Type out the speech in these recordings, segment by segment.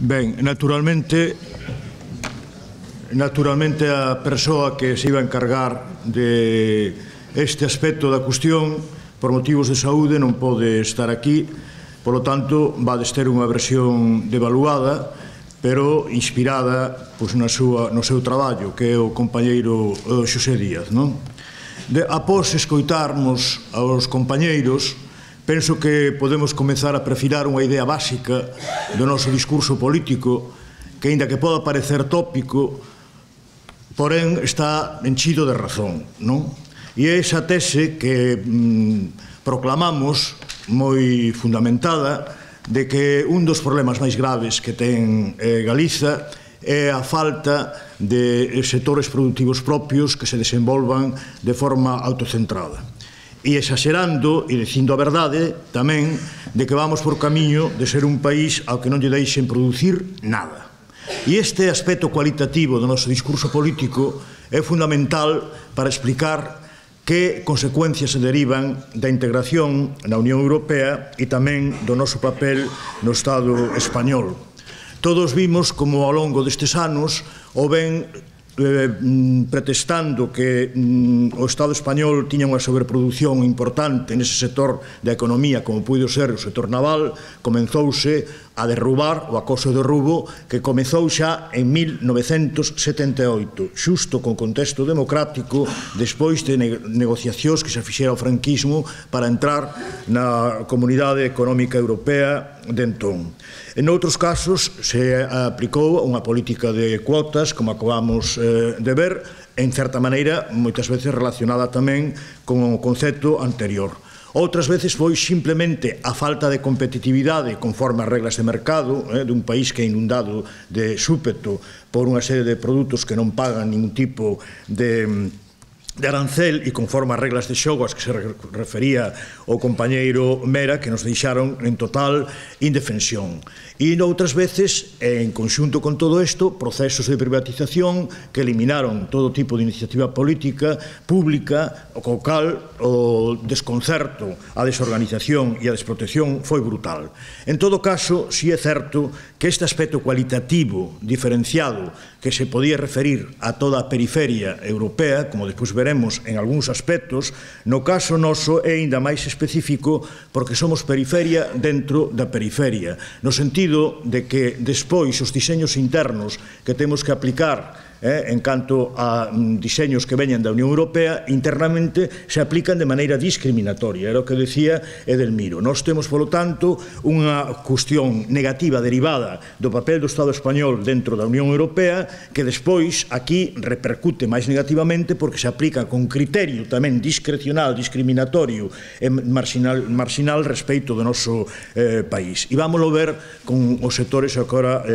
Ben, naturalmente a persoa que se iba a encargar de este aspecto da cuestión por motivos de saúde non pode estar aquí, polo tanto vades ter unha versión devaluada pero inspirada no seu traballo, que é o compañeiro Xosé Díaz. Após escoitarmos aos compañeiros, penso que podemos comezar a perfilar unha idea básica do noso discurso político que, aínda que poda parecer tópico, porén está enchido de razón, non? E é esa tese que proclamamos moi fundamentada de que un dos problemas máis graves que ten Galiza é a falta de sectores productivos propios que se desenvolvan de forma autocentrada. E exagerando e dicindo a verdade tamén de que vamos por camiño de ser un país ao que non lle deixen producir nada. E este aspecto cualitativo do noso discurso político é fundamental para explicar que consecuencias se derivan da integración na Unión Europea e tamén do noso papel no Estado español. Todos vimos como ao longo destes anos o ben pretextando que o Estado español tiña unha sobreproducción importante nese sector da economía, como puido ser o sector naval, comenzouse a derrubar o acoso de derrubo que comezou xa en 1978, xusto con contexto democrático, despois de negociacións que se fixera o franquismo para entrar na Comunidade Económica Europea de entón. En outros casos se aplicou unha política de cuotas, como acabamos de ver, en certa maneira, moitas veces relacionada tamén con o concepto anterior. Outras veces foi simplemente a falta de competitividade conforme as reglas de mercado dun país que é inundado de súpeto por unha serie de produtos que non pagan ningún tipo de arancel e conforme as reglas de xogo as que se refería o compañeiro Mera, que nos deixaron en total indefensión. E noutras veces, en conxunto con todo isto, procesos de privatización que eliminaron todo tipo de iniciativa política pública, co cal o desconcerto, a desorganización e a desprotección foi brutal. En todo caso, si é certo que este aspecto cualitativo diferenciado que se podía referir a toda a periferia europea, como despois veremos en algúns aspectos, no caso noso é aínda máis específico porque somos periferia dentro da periferia, no sentido de que despois os diseños internos que temos que aplicar en canto a diseños que veñan da Unión Europea, internamente se aplican de maneira discriminatoria. Era o que decía Edelmiro. Nós temos, polo tanto, unha cuestión negativa derivada do papel do Estado español dentro da Unión Europea que despois aquí repercute máis negativamente porque se aplica con criterio tamén discrecional, discriminatorio e marxinal respecto do noso país. E vámoslo ver con os sectores que agora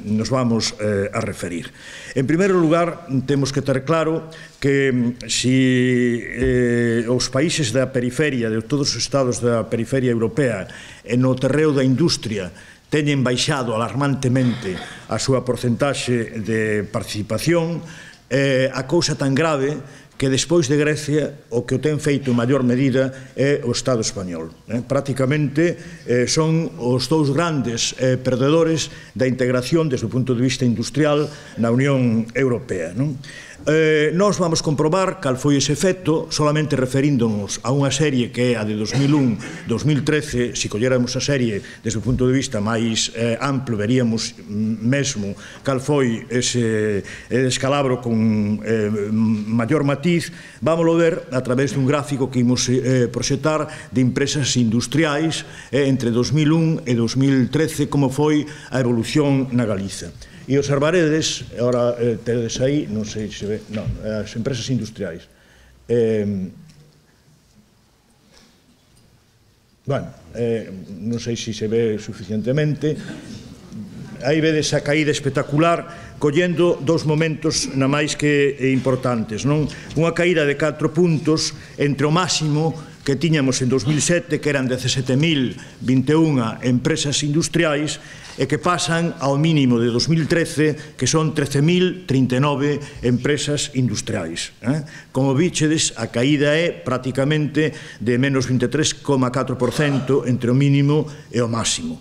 nos vamos a referir. En primeiro lugar, temos que ter claro que se os países da periferia, de todos os estados da periferia europea, no terreo da industria, teñen baixado alarmantemente a súa porcentaxe de participación, a cousa tan grave que despois de Grecia o que o ten feito en maior medida é o Estado español. Prácticamente son os dous grandes perdedores da integración desde o punto de vista industrial na Unión Europea. Nós vamos comprobar cal foi ese efecto solamente referíndonos a unha serie que é a de 2001-2013. Se colléramos a serie desde o punto de vista máis amplo veríamos mesmo cal foi ese descalabro con maior matiz. Vámoslo ver a través dun gráfico que imos proxectar de empresas industriais entre 2001 e 2013, como foi a evolución na Galiza. E observaredes, agora tedes aí, non sei se ve, non, as empresas industriais. Bueno, non sei se se ve suficientemente. Aí vedes a caída espectacular, collendo dos momentos na máis que importantes, non? Unha caída de 4 puntos entre o máximo que tiñamos en 2007, que eran 17.021 empresas industriais, e que pasan ao mínimo de 2013, que son 13.039 empresas industriais. Como víchedes, a caída é prácticamente de menos 23,4% entre o mínimo e o máximo.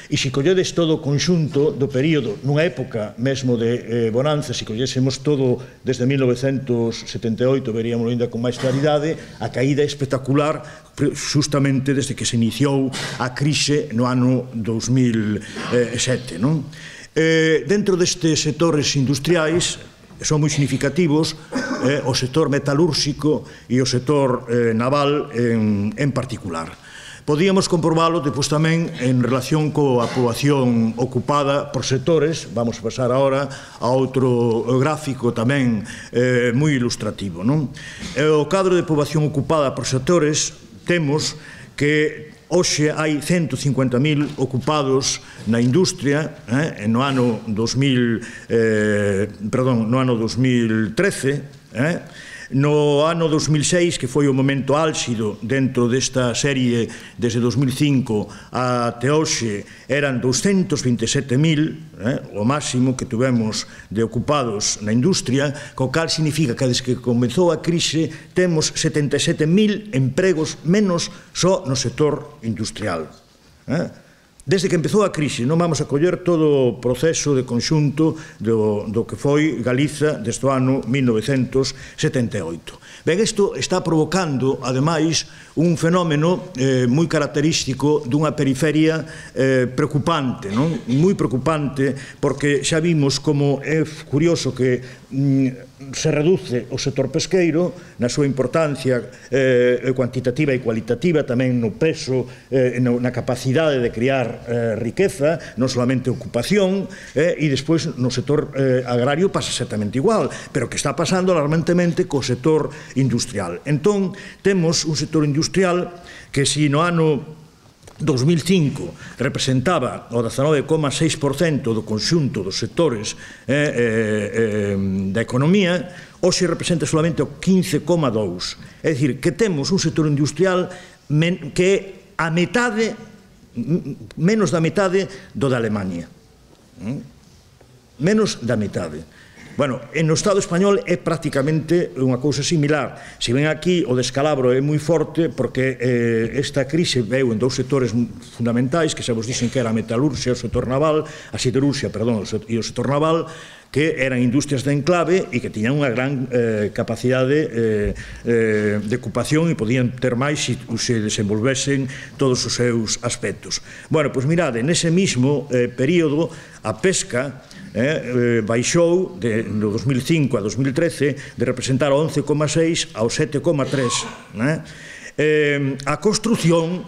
E se colledes todo o conxunto do período, nunha época mesmo de bonanza, se collésemos todo desde 1978, veríamos ainda con máis claridade, a caída espectacular justamente desde que se iniciou a crise no ano 2007. Dentro destes sectores industriais son moi significativos o sector metalúrxico e o sector naval en particular. Podíamos comprobalo depois tamén en relación coa poboación ocupada por sectores. Vamos a pasar agora a outro gráfico tamén moi ilustrativo. O cadro de poboación ocupada por sectores temos que hoxe hai 150.000 ocupados na industria no ano 2013. No ano 2006, que foi o momento álxido dentro desta serie desde 2005 até hoxe, eran 227.000, o máximo que tuvemos de ocupados na industria, co cal significa que desde que comezou a crise temos 77.000 empregos menos só no sector industrial. Desde que empezou a crise, non vamos a coller todo o proceso de conxunto do que foi Galiza desde o ano 1978. Ben, isto está provocando, ademais, un fenómeno moi característico dunha periferia preocupante, moi preocupante, porque xa vimos como é curioso que se reduce o sector pesqueiro na súa importancia cuantitativa e cualitativa, tamén no peso, na capacidade de crear riqueza, non solamente ocupación, e despois no sector agrario pasa exactamente igual, pero que está pasando alarmantemente co sector industrial. Entón, temos un sector industrial que si no ano 2005 representaba o 19,6% do conxunto dos sectores da economía, hoxe representa solamente o 15,2%. É dicir, que temos un sector industrial que é a metade, menos da metade do da Alemania. Menos da metade. Bueno, no Estado español é prácticamente unha cousa similar. Se ven aquí, o descalabro é moi forte porque esta crise veu en dous sectores fundamentais, que xa vos dixen que era a metalurxia, o sector naval, a siderurxia, perdón, e o sector naval, que eran industrias de enclave e que tiñan unha gran capacidade de ocupación e podían ter máis se desenvolvesen todos os seus aspectos. Bueno, pois mirade, nese mesmo período, a pesca baixou no 2005 a 2013 de representar o 11,6 ao 7,3. A construción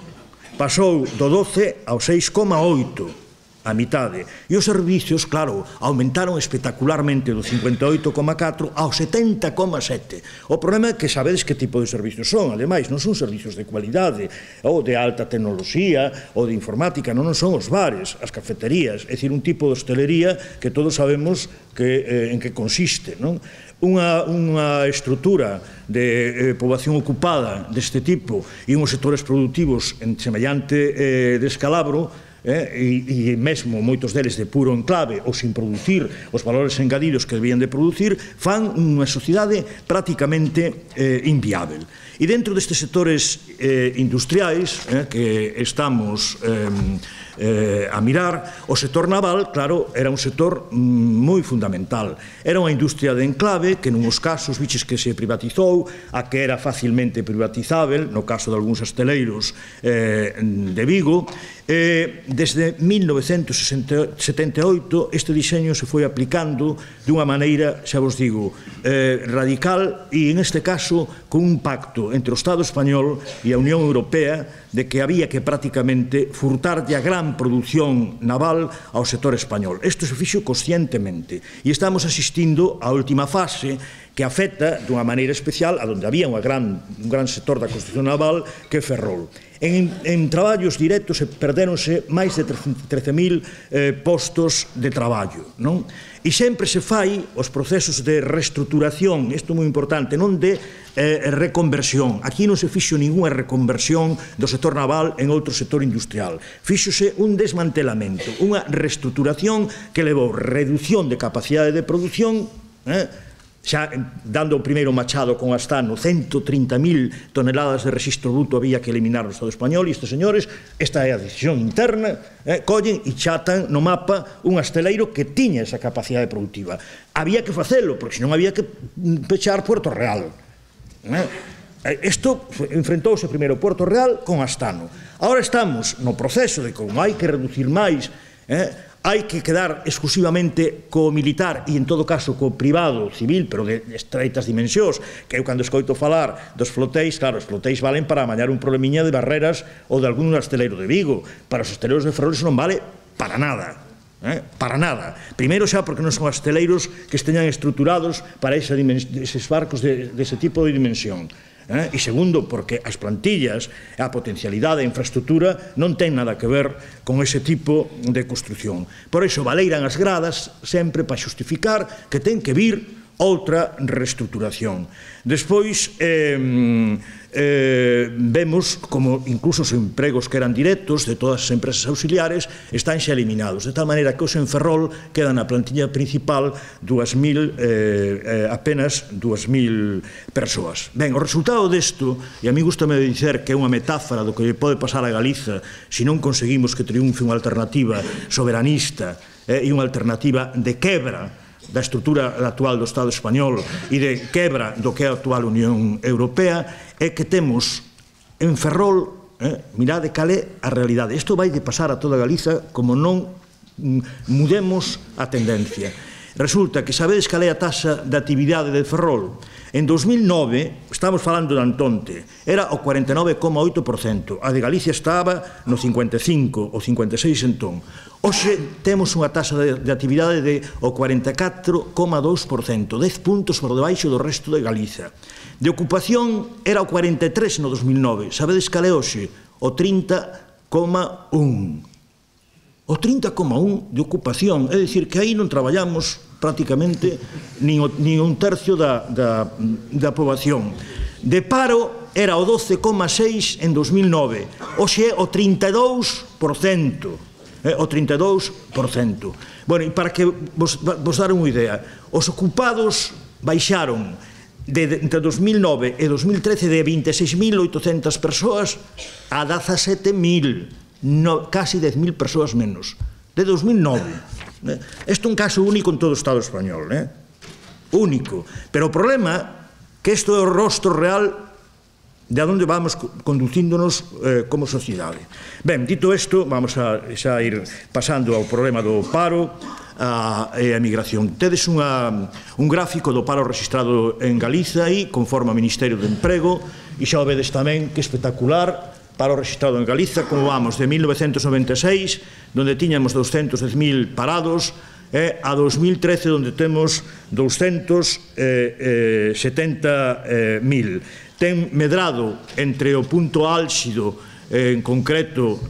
pasou do 12 ao 6,8, a mitade. E os servicios, claro, aumentaron espectacularmente do 58,4 ao 70,7. O problema é que sabedes que tipo de servicios son, ademais, non son servicios de cualidade ou de alta tecnoloxía ou de informática, non son os bares, as cafeterías, é dicir, un tipo de hostelería que todos sabemos en que consiste, non? Unha estrutura de poboación ocupada deste tipo e uns sectores productivos en semellante descalabro, e mesmo moitos deles de puro enclave ou sin producir os valores engadidos que debían de producir, fan unha sociedade prácticamente inviável. E dentro destes sectores industriais que estamos a mirar, o sector naval, claro, era un sector moi fundamental. Era unha industria de enclave que nuns casos, viches que se privatizou, a que era facilmente privatizável, no caso de algúns asteleiros de Vigo. Desde 1978 este diseño se foi aplicando dunha maneira, xa vos digo, radical e, en este caso, con un pacto entre o Estado español e a Unión Europea de que había que prácticamente furtarlle a gran produción naval ao sector español. Isto se fixo conscientemente e estamos asistindo á última fase que afecta dunha maneira especial a donde había un gran sector da construcción naval que é Ferrol. En traballos directos perdéronse máis de 13.000 postos de traballo, non? E sempre se fai os procesos de reestruturación, isto é moi importante, non de reconversión. Aquí non se fixo ninguna reconversión do sector naval en outro sector industrial. Fíxose un desmantelamento, unha reestruturación que levou reducción de capacidade de produción xa dando o primeiro machado con Astano, 130.000 toneladas de rexistro bruto había que eliminar no Estado español, e estes señores, esta é a decisión interna, collen e chatan no mapa un asteleiro que tiña esa capacidade productiva. Había que facelo, porque senón había que pechar Puerto Real. Isto enfrentouse primeiro Puerto Real con Astano. Ahora estamos no proceso de como hai que reducir máis, hai que quedar exclusivamente co militar e, en todo caso, co privado civil, pero de estreitas dimensións, que eu, cando escoito falar dos flotéis, claro, os flotéis valen para amañar un problemiña de barreras ou de algún asteleiro de Vigo. Para os asteleiros de Ferrol iso non vale para nada. Para nada. Primeiro xa porque non son asteleiros que esteñan estruturados para eses barcos dese tipo de dimensión. E segundo, porque as plantillas, a potencialidade, a infraestructura non ten nada que ver con ese tipo de construción. Por iso valeiran as gradas sempre para xustificar que ten que vir outra reestructuración. Despois vemos como incluso os empregos que eran directos de todas as empresas auxiliares están xa eliminados, de tal maneira que os en Ferrol quedan na plantilla principal apenas 2.000 persoas. Ben, o resultado desto, e a mí gustame dicer que é unha metáfora do que pode pasar a Galiza se non conseguimos que triunfe unha alternativa soberanista e unha alternativa de quebra da estrutura actual do Estado español e de quebra do que é a actual Unión Europea, é que temos en Ferrol, mirade cal é a realidade. Isto vai de pasar a toda Galiza como non mudemos a tendencia. Resulta que sabedes cal é a taxa de actividade de Ferrol? En 2009, estamos falando de Antonte, era o 49,8%, a de Galicia estaba no 55 ou 56 entón. Hoxe temos unha taxa de actividade de o 44,2%, 10 puntos por debaixo do resto de Galiza. De ocupación era o 43 no 2009, sabedes cal é hoxe? O 30,1%. O 30,1% de ocupación, é dicir, que aí non traballamos prácticamente nin un tercio da poboación. De paro era o 12,6% en 2009, hoxe é o 32%. O 32%. Bueno, e para que vos dar unha idea, os ocupados baixaron entre 2009 e 2013 de 26.800 persoas a 17.000, casi 10.000 persoas menos, de 2009. Isto é un caso único en todo o Estado español, único. Pero o problema que isto é o rostro real de onde vamos conducíndonos como sociedade. Ben, dito isto, vamos a xa ir pasando ao problema do paro e a emigración. Tedes un gráfico do paro registrado en Galiza aí, conforme ao Ministerio de Emprego, e xa o vedes tamén que espectacular, paro registrado en Galiza, como vamos, de 1996, onde tiñamos 210.000 parados, a 2013, onde temos 270.000. Ten medrado entre o punto álxido, en concreto,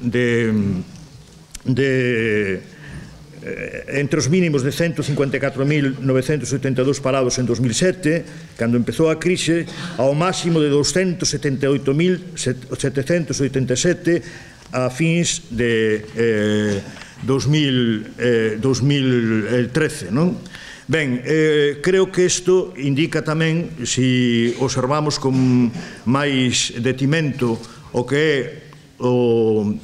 entre os mínimos de 154.982 parados en 2007, cando empezou a crise, ao máximo de 278.787 a fins de 2013, non? Ben, creo que isto indica tamén, se observamos con máis detimento o que é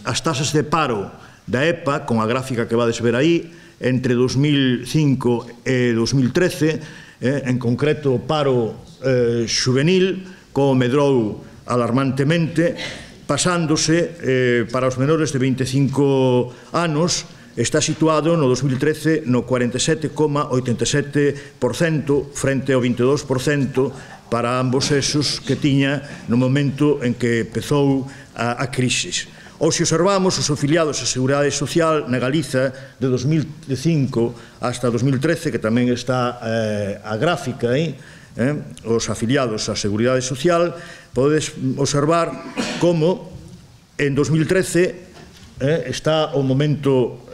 as tasas de paro da EPA, con a gráfica que vades ver aí, entre 2005 e 2013, en concreto o paro xuvenil, como medrou alarmantemente, pasándose para os menores de 25 anos, está situado no 2013 no 47,87% frente ao 22% para ambos esos que tiña no momento en que empezou a crise. Ou se observamos os afiliados á Seguridade Social na Galiza de 2005 hasta 2013, que tamén está a gráfica aí, os afiliados á Seguridade Social, podedes observar como en 2013 está o momento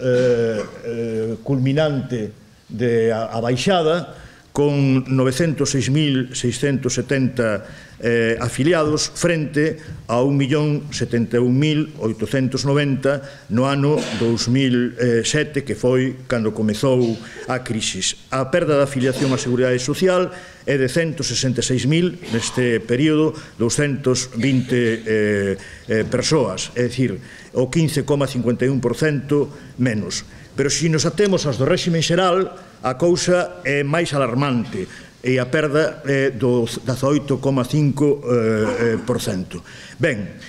culminante da baixada, con 906.670 afiliados frente a 1.071.890 no ano 2007, que foi cando comezou a crisis. A perda da afiliación á Seguridade Social é de 166.000 neste período, 220 persoas, é dicir, o 15,51% menos. Pero se nos atemos aos do réxime xeral, a cousa é máis alarmante, e a perda é do 18,5%. Ben,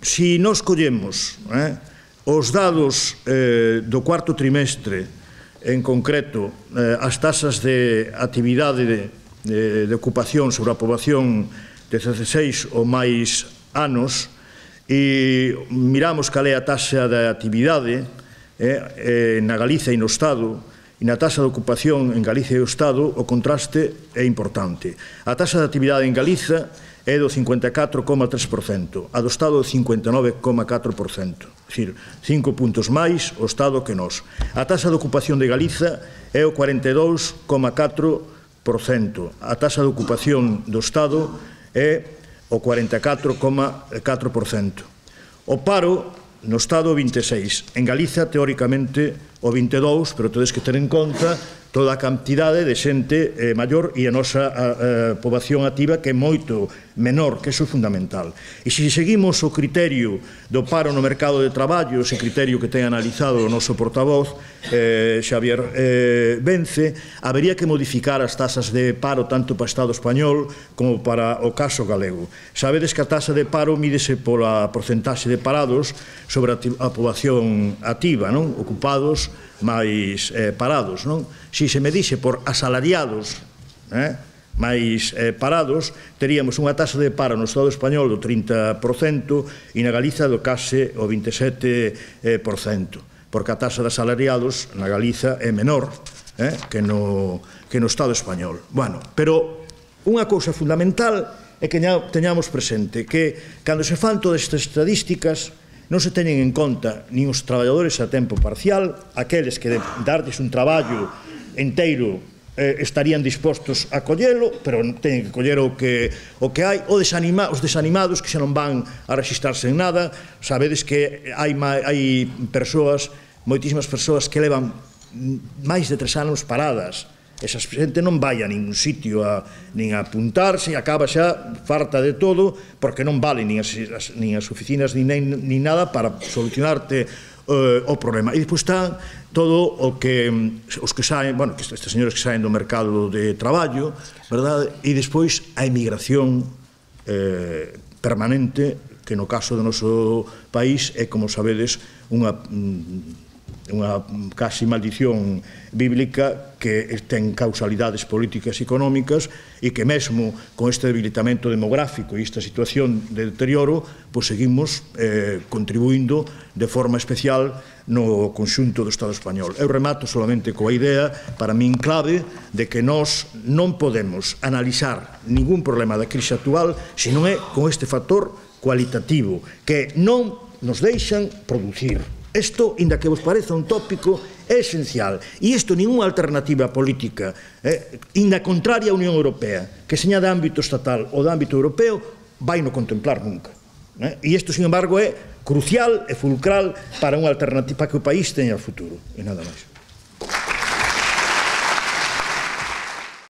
se nos collemos os dados do cuarto trimestre, en concreto as tasas de actividade de ocupación sobre a poboación de 16 ou máis anos, e miramos cal é a taxa de actividade na Galiza e no Estado, e na taxa de ocupación en Galicia e o Estado, o contraste é importante. A taxa de actividade en Galiza é do 54,3%, a do Estado do 59,4%, é dicir, 5 puntos máis o Estado que nós. A taxa de ocupación de Galiza é o 42,4%, a taxa de ocupación do Estado é o 44,4%. O paro no Estado o 26%, en Galiza teóricamente o 22%, pero tedes que ter en conta toda a cantidade de xente maior e a nosa poboación activa que é moito menor, que iso é fundamental. E se seguimos o criterio do paro no mercado de traballo, ese criterio que ten analizado o noso portavoz, Xavier Vence, habería que modificar as tasas de paro tanto para o Estado español como para o caso galego. Sabedes que a tasa de paro mídese pola porcentaxe de parados sobre a poboación activa, non? Ocupados máis parados, non? Se se medixe por asalariados máis parados, teríamos unha taxa de paro no Estado español do 30% e na Galiza do case o 27%, porque a taxa de asalariados na Galiza é menor que no Estado español. Bueno, pero unha cousa fundamental é que teñamos presente que cando se fan todas estas estadísticas non se teñen en conta nin os traballadores a tempo parcial, aqueles que de darles un traballo inteiro estarían dispostos a collelo, pero teñen que coller o que hai, os desanimados que xa non van a registrarse en nada. Sabedes que hai persoas, moitísimas persoas que levan máis de 3 anos paradas. Esa xente non vai a ningún sitio nin a apuntarse, acaba xa farta de todo, porque non vale nin as oficinas nin nada para solucionarte o problema. E despois está todo o que os que saen, bueno, estes señores que saen do mercado de traballo, verdade? E despois a emigración permanente, que no caso do noso país é, como sabedes, unha casi maldición bíblica que ten causalidades políticas e económicas e que mesmo con este debilitamento demográfico e esta situación de deterioro, pois seguimos contribuindo de forma especial no conxunto do Estado español. Eu remato solamente coa idea, para min clave, de que nós non podemos analizar ningún problema da crise actual se non é con este factor cualitativo, que non nos deixan producir. Isto, inda que vos pareza un tópico, é esencial. E isto, ninguna alternativa política, inda contraria á Unión Europea, que seña de ámbito estatal ou de ámbito europeo, vai non contemplar nunca. E isto, sin embargo, é crucial e fulcral para unha alternativa, para que o país teña futuro. E nada máis.